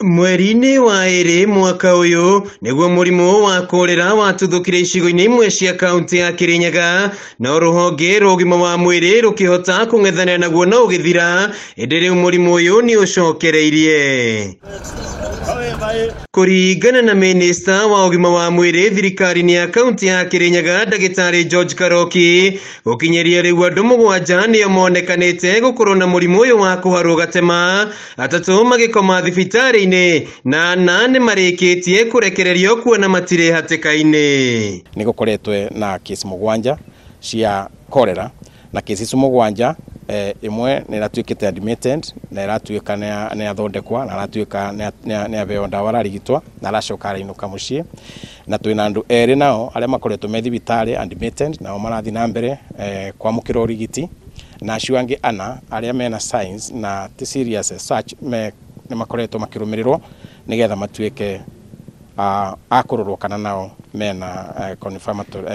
Mweri-inĩ wa ĩrĩ mwaka ũyũ nĩguo mũrimũ wa korera watuthũkire icigo-inĩ imwe cia kaunti ya Kirinyaga, no rũhonge rwa ũgima wa mwĩrĩ rũkĩhota kũng'ethanĩra naguo na ũgĩthira, ĩndĩ rĩu mũrimũ ũyũ nĩ ũcokereirie. Kũringana na minista wa ũgima wa mwĩrĩ thirikari-inĩ ya kaunti ya Kirinyaga ndagĩtarĩ George Karoki, gũkinyĩria rĩu andũ 7 nĩo monekanĩte gũkorwo na mũrimũ ũyũ wa kũharwo gatema, 3 magĩkoma thibitarĩ-inĩ na 4 nĩ marĩkĩtie kũrekererio kuona matirĩ hatĩka-inĩ. Nĩ gũkoretwe na kesi 7 cia cholera, na kesi icio 7 ĩmwe nĩ ĩratuĩkĩte admitted na ĩratuĩka nĩ yathondekwa na ĩratuĩka nĩ yaheo ndawa ararigitwo na aracoka arainũka mũciĩ. Na twĩna andũ 2 nao arĩa makoretwo me thibitarĩ admitted nao marathiĩ na mbere kwamũkĩra ũrigiti, na acio angĩ 4 arĩa mena signs na ti serious as such nĩ makoretwo makĩrũmĩrĩrwo nĩgetha matuĩke a kũrorwo kana nao mena confirmatory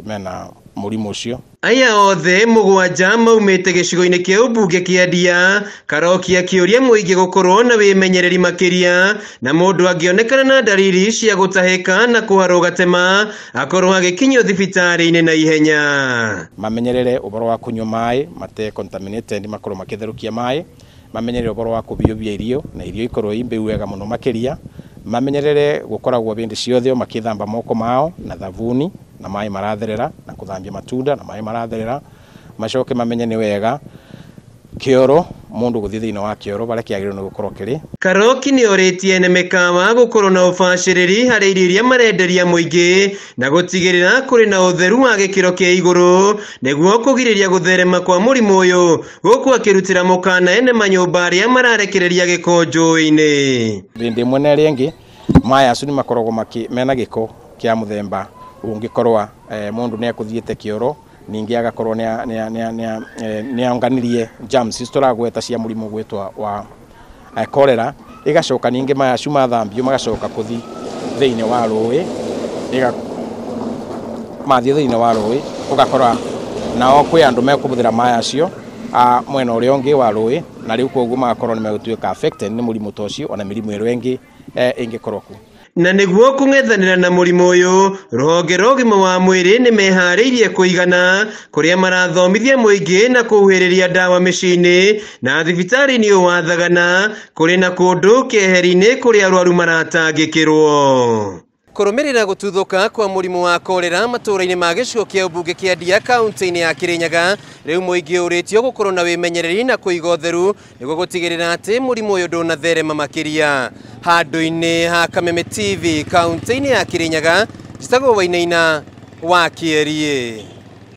mena mũrimũ ũcio. Aya othe 7 maumĩte gĩcigo-inĩ kĩa ũmbunge kĩa Ndia. Karoki akĩũria mũingĩ gũkorwo na wĩmenyereri makĩria, na mũndũ angĩonekana na ndariri cia gũtahĩka na kũharwo gatema akorwo agĩkinyio thibitarĩ-inĩ na ihenya. Mamenyerere ũhoro wa kũnyua maĩ mate contaminated, makorwo makĩtherũkia maĩ, mamenyerere ũhoro wa kũbiũbia irio na irio ikorwo i mbĩu wega mũno makĩria, mamenyerere gũkoragwo hĩndĩ ciothe makĩthamba moko mao na thabuni na maĩ maratherera, na kũthambia matunda na maĩ maratherera. Macoke mamenye nĩ wega kĩoro mũndũ gũthiĩ thĩinĩ wa kĩoro barĩa kĩagĩrĩirwo nĩ gũkorwo kĩrĩ. Karoki nĩ orĩtie ene mĩkawa gũkorwo na ũbacĩrĩri harĩ irio iria marenderia mũingĩ na gũtigĩrĩra kũrĩ na ũtheru wa gĩkĩro kĩa igũrũ nĩguo kũgirĩrĩria gũtherema kwa mũrimũ ũyũ, gũkũ akĩrutĩra mũkana ene manyũmba arĩa mararekereria gĩko njũĩ-inĩ. Hĩndĩ ĩmwe na ĩrĩa ĩngĩ maĩ acio nĩ makoragwo mena gĩko kĩa mũthemba ũngĩkorwa mũndũ nĩ ekũthiĩte kĩoro ningĩ agakorwo nĩ onganirie germs icio tũragweta cia mũrimũ gwĩtwa wa cholera, ĩgacoka ningĩ maya acio mathambio magacoka kũthi thĩinĩ wa rũĩ, mathiĩ thĩinĩ wa rũĩ ũgakora nao kwĩ andũ mekũhũthĩra maĩ acio mwena ũrĩa ũngĩ wa rũĩ, na rĩu koguo magakorwo nĩ megũtuĩka affected nĩ mũrimũ ta ũcio ona mĩrimũ ĩrĩa ĩngĩ ĩngĩkorwo kuo. Na nĩguo kũng'ethanĩra na mũrimũ ũyũ, rũhonge rwa ũgima wa mwĩrĩ nĩ meharĩirie kũigana kũrĩa marathomithia mũingĩ na kũhuhĩrĩria ndawa mĩciĩ-inĩ na thibitarĩ-inĩ ũyũ wa Thagana kũrĩ na kũndũ keheri-inĩ kũrĩa arwaru maratangĩkĩrwo. Kũrũmĩrĩra gũtuthũka kwa mũrimũ wa korera matũũra-inĩ ma gĩcigo kĩa ũmbunge kĩa Ndia kaunti-inĩ ya Kirinyaga, rĩu mũingĩ ũrĩtio gũkorwo na wĩmenyereri na kũiga ũtheru nĩguo gũtigĩrĩra atĩ mũrimũ ũyũ ndũnatherema makĩria. Handũ-inĩ ha Kameme TV kaunti-inĩ ya Kirinyaga, njĩtagwo Wainaina wa Kĩeriĩ.